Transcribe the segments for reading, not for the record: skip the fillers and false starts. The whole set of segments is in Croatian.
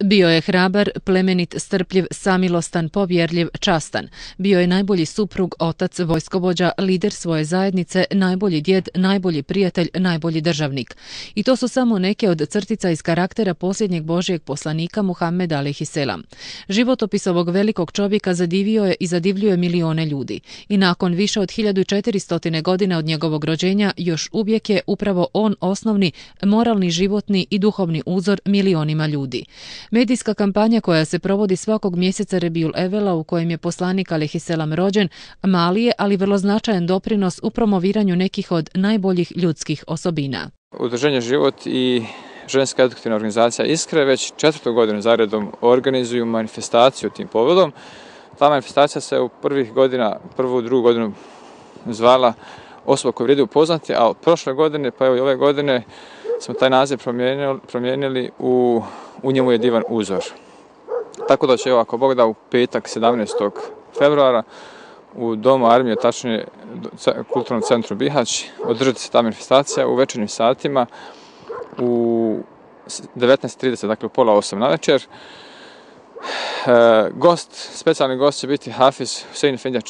Bio je hrabar, plemenit, strpljiv, samilostan, povjerljiv, častan. Bio je najbolji suprug, otac, vojskovođa, lider svoje zajednice, najbolji djed, najbolji prijatelj, najbolji državnik. I to su samo neke od crtica iz karaktera posljednjeg Božjeg poslanika Muhammeda alejhiselam. Životopis ovog velikog čovjeka zadivio je i zadivljuje milione ljudi. I nakon više od 1400 godina od njegovog rođenja još uvijek je upravo on osnovni, moralni, životni i duhovni uzor milionima ljudi. Medijska kampanja koja se provodi svakog mjeseca Rebiul Evela u kojem je poslanik alejhiselam rođen, mali je, ali vrlo značajan doprinos u promoviranju nekih od najboljih ljudskih osobina. Udruženje Život i ženska edukativna organizacija Iskre već 4. godinu zaredom organizuju manifestaciju tim povodom. Ta manifestacija se u prvu, drugu godinu zvala Osoba koju vrijedi upoznati, a od prošle godine pa evo i ove godine smo taj naziv promijenili u njemu je divan uzor. Tako da će, evo, ako Bog da, u petak 17. februara u Domu armije, tačnije Kulturnom centru Bihać, održati se ta manifestacija u večernjim satima u 19:30, dakle u 19:30 na večer. Specijalni gost će biti Hafiz Husein Efendija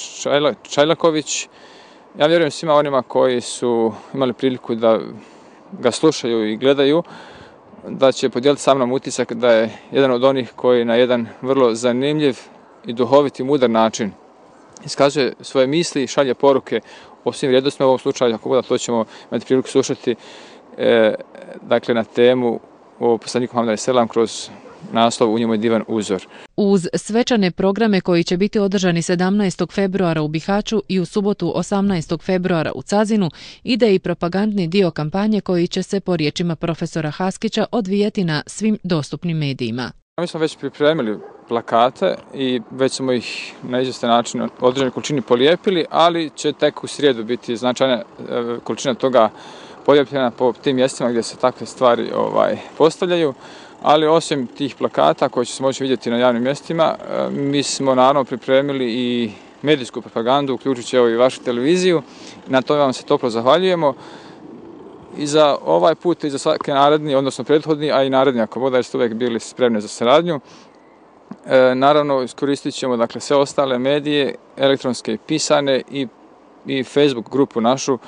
Čajlaković. Ja vjerujem svima onima koji su imali priliku da ga slušaju i gledaju, da će podijeliti sa mnom utisak da je jedan od onih koji na jedan vrlo zanimljiv i duhovit i mudar način iskazuje svoje misli i šalje poruke o svim vrijednostima. U ovom slučaju, ako bude, to ćemo imati priliku slušati dakle, na temu o poslaniku Muhammedu alejhiselam kroz naslov U njemu je divan uzor. Uz svečane programe koji će biti održani 17. februara u Bihaću i u subotu 18. februara u Cazinu, ide i propagandni dio kampanje koji će se, po riječima profesora Haskića, odvijati na svim dostupnim medijima. Mi smo već pripremili plakate i već smo ih na izvjestan način određenoj količini polijepili, ali će tek u srijedu biti značajna količina toga polijepljena po tim mjestima gdje se takve stvari postavljaju. Ali osim tih plakata koji će se moći vidjeti na javnim mjestima, mi smo naravno pripremili i medijsku propagandu, uključujući evo i vašu televiziju. Na tome vam se toplo zahvaljujemo. I za ovaj put i za svaki naredni, odnosno prethodni, a i naredni, ako bude, jer ste uvijek bili spremni za saradnju. Naravno, iskoristit ćemo, dakle, sve ostale medije, elektronske i pisane, i Facebook grupu našu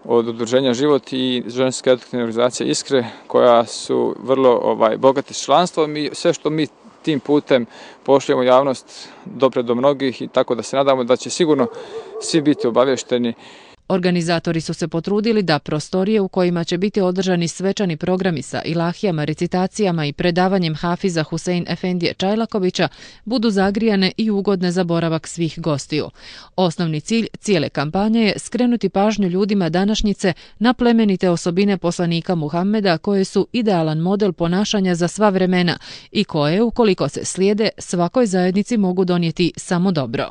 od Udruženja Život i ženske edukativne organizacije Iskre, koja su vrlo bogate s članstvom, i sve što mi tim putem pošaljemo javnost dopre do mnogih, i tako da se nadamo da će sigurno svi biti obavješteni. Organizatori su se potrudili da prostorije u kojima će biti održani svečani programi sa ilahijama, recitacijama i predavanjem Hafiza Husein Efendije Čajlakovića budu zagrijane i ugodne za boravak svih gostiju. Osnovni cilj cijele kampanje je skrenuti pažnju ljudima današnjice na plemenite osobine poslanika Muhammeda, koje su idealan model ponašanja za sva vremena i koje, ukoliko se slijede, svakoj zajednici mogu donijeti samo dobro.